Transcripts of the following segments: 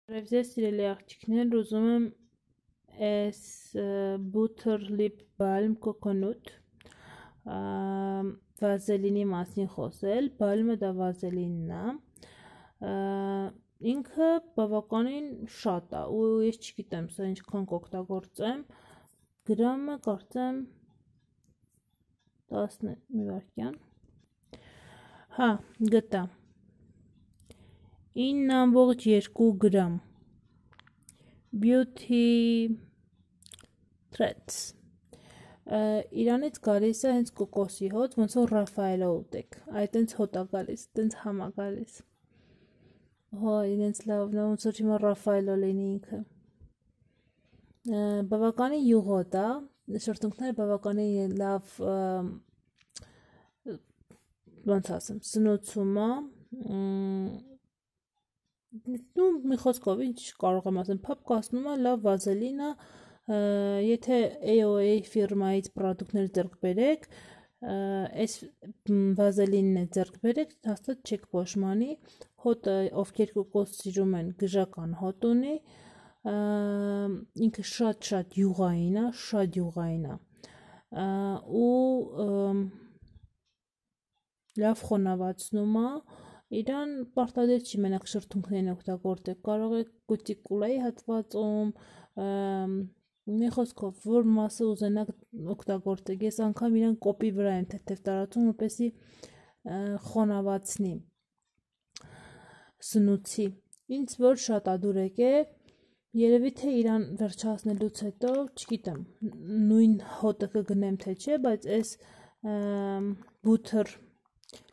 Ձեզ սիրելի աղջիկներ, ուզում եմ այս Butter Lip Balm Coconut վազելինի մասին խոսել։ Բալմը դա վազելինն է։ Ինքը բավականին շատ է ու ես չգիտեմ սա ինչքան կօգտագործեմ։ Գրամը կարծեմ 10 մի վայրկյան։ Հա, գտա 9.2 գրամ Beauty Threads Իրանից գալիս է հենց կոկոսի հոտ, ոնց որ Ռաֆայելը ուտեք, այդ հենց հոտ է գալիս, հենց համ է գալիս, հո իրենց լավն է, ոնց որ հիմա Ռաֆայելը լինի ինքը, բավականին յուղոտ է, շրթունքները բավականին լավ, ոնց ասեմ, սնուցում է, մի խոսքով ինչ կարող եմ ասեմ, փափ կասնում է, լավ վազելին է, եթե AOA ֆիրմայից պրոդուկտներ ձեռք բերեք, այս վազելինն է ձեռք բերեք, հաստատ չեք փոշմանի, հոտը ովքեր կոկոս սիրում են գժական հոտ ունի, ինքը շատ յուղային է, ու լավ խոնավացնում է, իրան պարտադիր չի մենակ շրթունքներին օգտագործեք, կարող եք կուտիկուլայի հատվածում, մի խոսքով, որ մասը ուզենաք օգտագործեք, ես անգամ իրան կոպի վրա եմ թեթև տարածում, որպեսզի խոնավացնի, սնուցի, ինձ որ շատ ադուրեք է, երևի թե իրան վերջացնելուց հետո, չգիտեմ, նույն հոտը կգնեմ թե չէ, բայց այս Butter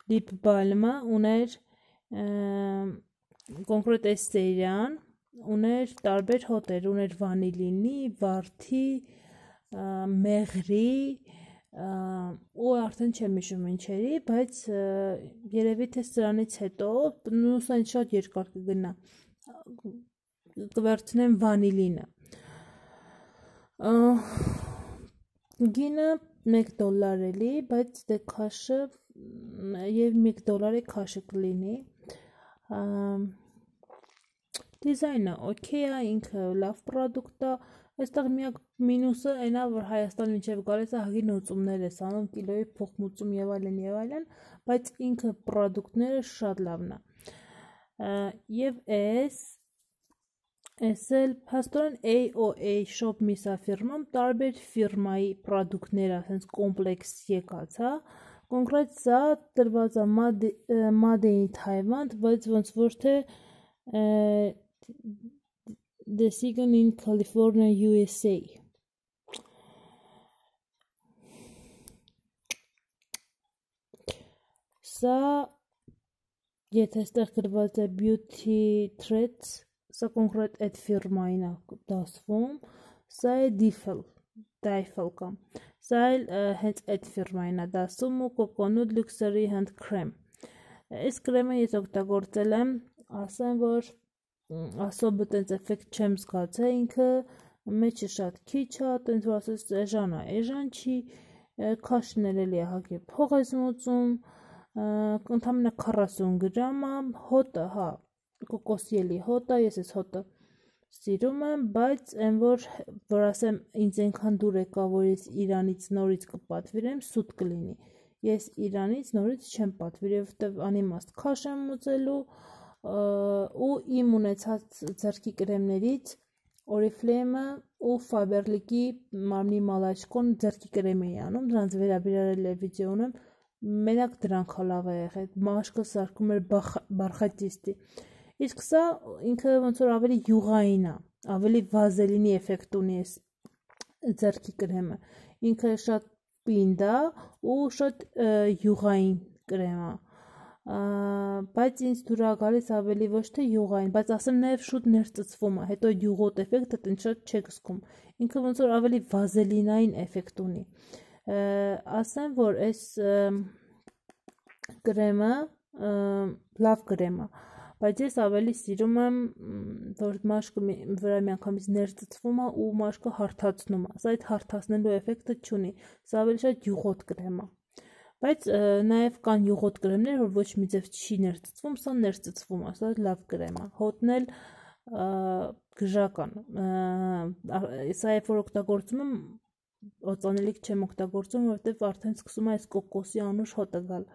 Lip Balm-ը ուներ կոնկրետ այս սերիան ուներ տարբեր հոտեր, ուներ վանիլինի, վարդի, մեղրի ու արդեն չեմ հիշում ինչերի, բայց երևի թե սրանից հետո նույն շատ երկար կգնա, կվերցնեմ վանիլինը, գինը $1 էլի, բայց դե քաշը և $1 քաշը կլինի, դիզայնը օքեյ է, ինքը լավ պրոդուկտ է, այստեղ միակ մինուսը այն է, որ Հայաստան մինչև գալիս է հագի նոծումներ ես անում, կիլոյի փոխմուծում և այլն, բայց ինքը պրոդուկտները շատ լավն է, և այս էլ փաստորեն AOA Shop Misa ֆիրման տարբեր ֆիրմայի պրոդուկտները հենց կոմպլեքս եկած է, կոնկրետ սա տրված է Made in Taiwan, բայց ոնց որ թե Decision in California, USA Սա եթե ստեղ գրված է Beauty Threads, սա կոնկրետ այդ ֆիրմային է դասվում, սա է Difel կամ, սա էլ հենց այդ ֆիրմային է դասում ու Coconut Luxury Hand Cream, այս կրեմը ես օգտագործել եմ, ասեմ որ ասոբը տենց էֆեկտ չեմ զգացել, ինքը մեջը շատ քիչ է, տենց որ ասես էժան չի, քաշն էլի է հագի փող ես մուծում, ընդամենը 40 գրամ է, հոտը, հա, կոկոսի էլի հոտ է, ես ես հոտը սիրում եմ, բայց այն որ ասեմ ինձ այնքան դուր եկա, որ ես Իրանից նորից կպատվիրեմ, սուտ կլինի, ես Իրանից նորից չեմ պատվիրել, որովհետև անիմաստ քաշ եմ մուծելու ու իմ ունեցած ձեռքի կրեմներից Oriflame-ը ու Faberlic-ի մարմնի մալաչկոն ձեռքի կրեմ էի անում, դրանց վերաբերել է վիդեո ունեմ, մենակ դրանք լավ է եղել, մաշկը սարքում էր բարխատիստի, իսկ սա ինքը ոնց որ ավելի յուղային է, ավելի վազելինի էֆեկտ ունի այս ձեռքի կրեմը, ինքը շատ պինդ է ու շատ յուղային կրեմ է, բայց ինձ դուր է գալիս ավելի ոչ թե յուղային, բայց ասեմ նաև շուտ ներծծվում է, հետո յուղոտ էֆեկտը տենց շատ չեք զգում, ինքը ոնց որ ավելի վազելինային էֆեկտ ունի, ասեմ որ այս կրեմը լավ կրեմ է, բայց ես ավելի սիրում եմ, որ մաշկը վրա միանգամից ներծծվում է ու մաշկը հարթացնում է, սա այդ հարթացնելու էֆեկտը չունի, սա ավելի շատ յուղոտ կրեմ է, բայց նաև կան յուղոտ կրեմներ, որ ոչ մի ձև չի ներծծվում, սա ներծծվում է, սա լավ կրեմ է, հոտն էլ գժական, սա երբ որ օգտագործում եմ, օծանելիք չեմ օգտագործում, որովհետև արդեն սկսում է այս կոկոսի անուշ հոտը գալ։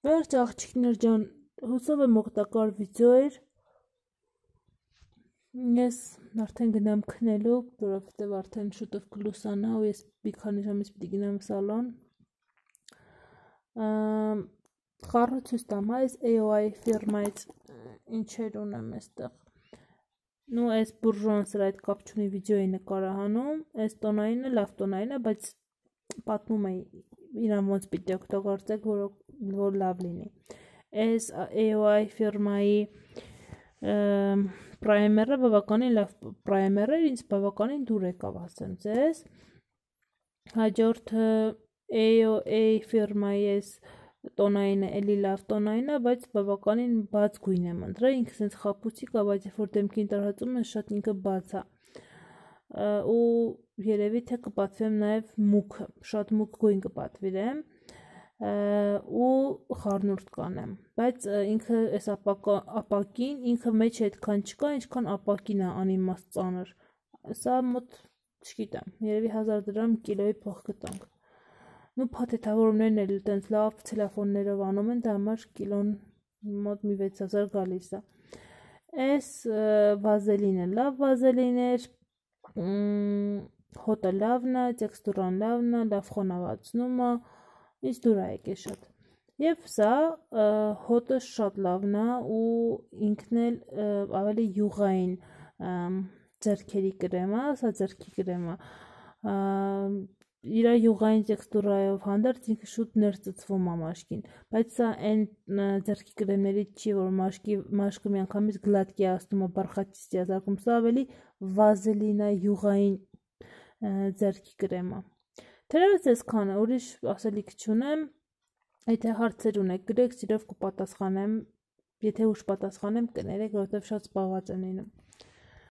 Վերջ աղջիկներ ջան, հուսով եմ օգտակար վիդեո էր։ Ես արդեն գնամ քնելու, որովհետև արդեն շուտով կլուսանա ու ես մի քանի ժամից պիտի գնամ սալոն։ Խառը ցույց տամ, այս AOI ֆիրմայից ինչեր ունեմ այստեղ։ Նու այս բուրժոն սրա այդ կապ չունի վիդեոյի նկարահանում, այս տոնայինը լավ տոնային է, բայց պատմում է իրան ոնց պիտի օգտագործեք, որ լավ լինի։ Այս AOI ֆիրմայի պրայմերը բավականին լավ պրայմեր էր, ինձ բավականին դուր եկավ, ասեմ ձեզ։ Հաջորդը AOA ֆիրմայի այս տոնայինը էլի լավ տոնային է, բայց բավականին բաց գույն եմ ընտրել, ինքը սենց խապուցիկ է, բայց երբ որ դեմքին տարածում ես, շատ ինքը բաց է։ Ու երևի թե կպատվեմ նաև մուքը, շատ մուք գույն կպատվիրեմ ու խառնուրդ կանեմ, բայց ինքը այս ապակին, ինքը մեջ այդքան չկա, ինչքան ապակին է անիմաստ ծանր։ Սա մոտ, չգիտեմ, երևի 1000 դրամ կիլոյի փող կտանք։ Նու փաթեթավորումներն էլ տենց լավ ցելոֆաններով անում են, դա համար կիլոն մոտ մի 6000 գալիս է։ Այս վազելինը լավ վազելին էր, հոտը լավն է, տեքստուրան լավն է, լավ խոնավացնում է, ինձ դուր է եկել շատ։ Եվ սա հոտը շատ լավն է ու ինքն էլ ավելի յուղային ձեռքերի կրեմ է, սա ձեռքի կրեմ է։ Իր յուղային տեքստուրայով հանդերձ ինքը շուտ ներծծվում է մաշկին, բայց սա այն ձեռքի կրեմներից չի, որ մաշկը միանգամից գլատկի ասնում է, բարխատիստի է զարկում, սա ավելի վազելին է, յուղային ձեռքի կրեմ է։ Թերևս այսքանը, ուրիշ ասելիք չունեմ, եթե հարցեր ունեք, գրեք, սիրով կպատասխանեմ, եթե ուշ պատասխանեմ, կներեք, որովհետև շատ զբաղված եմ լինում։